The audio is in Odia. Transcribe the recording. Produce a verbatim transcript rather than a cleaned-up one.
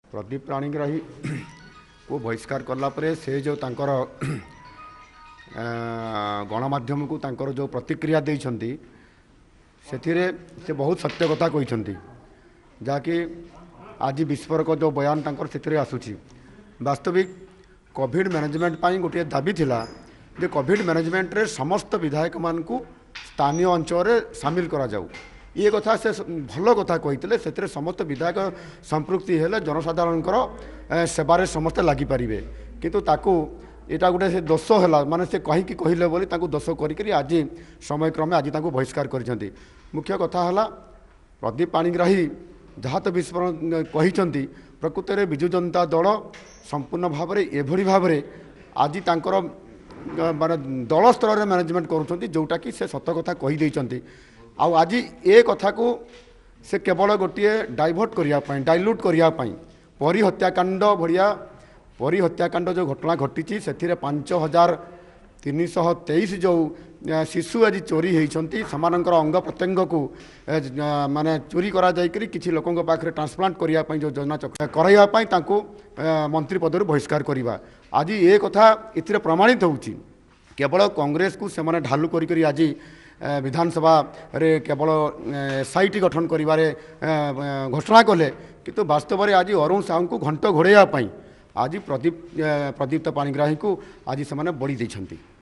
ପ୍ରଦୀପ ପାଣିଗ୍ରାହୀକୁ ବହିଷ୍କାର କଲା ପରେ ସେ ଯେଉଁ ତାଙ୍କର ଗଣମାଧ୍ୟମକୁ ତାଙ୍କର ଯେଉଁ ପ୍ରତିକ୍ରିୟା ଦେଇଛନ୍ତି, ସେଥିରେ ସେ ବହୁତ ସତ୍ୟ କଥା କହିଛନ୍ତି, ଯାହାକି ଆଜି ବିସ୍ଫୋରକ ଯେଉଁ ବୟାନ ତାଙ୍କର ସେଥିରେ ଆସୁଛି। ବାସ୍ତବିକ କୋଭିଡ଼ ମ୍ୟାନେଜମେଣ୍ଟ ପାଇଁ ଗୋଟିଏ ଦାବି ଥିଲା ଯେ କୋଭିଡ଼ ମ୍ୟାନେଜମେଣ୍ଟରେ ସମସ୍ତ ବିଧାୟକମାନଙ୍କୁ ସ୍ଥାନୀୟ ଅଞ୍ଚଳରେ ସାମିଲ କରାଯାଉ। ଇଏ କଥା ସେ ଭଲ କଥା କହିଥିଲେ। ସେଥିରେ ସମସ୍ତ ବିଧାୟକ ସମ୍ପୃକ୍ତି ହେଲେ ଜନସାଧାରଣଙ୍କର ସେବାରେ ସମସ୍ତେ ଲାଗିପାରିବେ। କିନ୍ତୁ ତାକୁ ଏଇଟା ଗୋଟେ ସେ ଦୋଷ ହେଲା, ମାନେ ସେ କାହିଁକି କହିଲେ ବୋଲି ତାଙ୍କୁ ଦୋଷ କରିକିରି ଆଜି ସମୟକ୍ରମେ ଆଜି ତାଙ୍କୁ ବହିଷ୍କାର କରିଛନ୍ତି। ମୁଖ୍ୟ କଥା ହେଲା, ପ୍ରଦୀପ ପାଣିଗ୍ରାହୀ ଯାହା ତ ବିସ୍ଫୋରଣ କହିଛନ୍ତି, ପ୍ରକୃତରେ ବିଜୁ ଜନତା ଦଳ ସମ୍ପୂର୍ଣ୍ଣ ଭାବରେ ଏଭଳି ଭାବରେ ଆଜି ତାଙ୍କର ମାନେ ଦଳ ସ୍ତରରେ ମ୍ୟାନେଜମେଣ୍ଟ କରୁଛନ୍ତି, ଯେଉଁଟାକି ସେ ସତ କଥା କହିଦେଇଛନ୍ତି। ଆଉ ଆଜି ଏ କଥାକୁ ସେ କେବଳ ଗୋଟିଏ ଡାଇଭର୍ଟ କରିବା ପାଇଁ, ଡାଇଲ୍ୟୁଟ୍ କରିବା ପାଇଁ, ପରୀ ହତ୍ୟାକାଣ୍ଡ ଭଳିଆ, ପରୀ ହତ୍ୟାକାଣ୍ଡ ଯେଉଁ ଘଟଣା ଘଟିଛି, ସେଥିରେ ପାଞ୍ଚ ହଜାର ତିନିଶହ ତେଇଶ ଯେଉଁ ଶିଶୁ ଆଜି ଚୋରି ହେଇଛନ୍ତି, ସେମାନଙ୍କର ଅଙ୍ଗ ପ୍ରତ୍ୟଙ୍ଗକୁ ମାନେ ଚୋରି କରାଯାଇକରି କିଛି ଲୋକଙ୍କ ପାଖରେ ଟ୍ରାନ୍ସପ୍ଲାଣ୍ଟ କରିବା ପାଇଁ ଯେଉଁ ଯୋଜନା କରାଇବା ପାଇଁ ତାଙ୍କୁ ମନ୍ତ୍ରୀ ପଦରୁ ବହିଷ୍କାର କରିବା, ଆଜି ଏ କଥା ଏଥିରେ ପ୍ରମାଣିତ ହେଉଛି। କେବଳ କଂଗ୍ରେସକୁ ସେମାନେ ଢାଲୁ କରିକରି ଆଜି ବିଧାନସଭାରେ କେବଳ ଏସ୍ I T ଗଠନ କରିବାରେ ଘୋଷଣା କଲେ, କିନ୍ତୁ ବାସ୍ତବରେ ଆଜି ଅରୁଣ ସାହୁଙ୍କୁ ଘଣ୍ଟ ଘୋଡ଼ାଇବା ପାଇଁ ଆଜି ପ୍ରଦୀପ ପ୍ରଦୀପ୍ତ ପାଣିଗ୍ରାହୀଙ୍କୁ ଆଜି ସେମାନେ ବଳି ଦେଇଛନ୍ତି।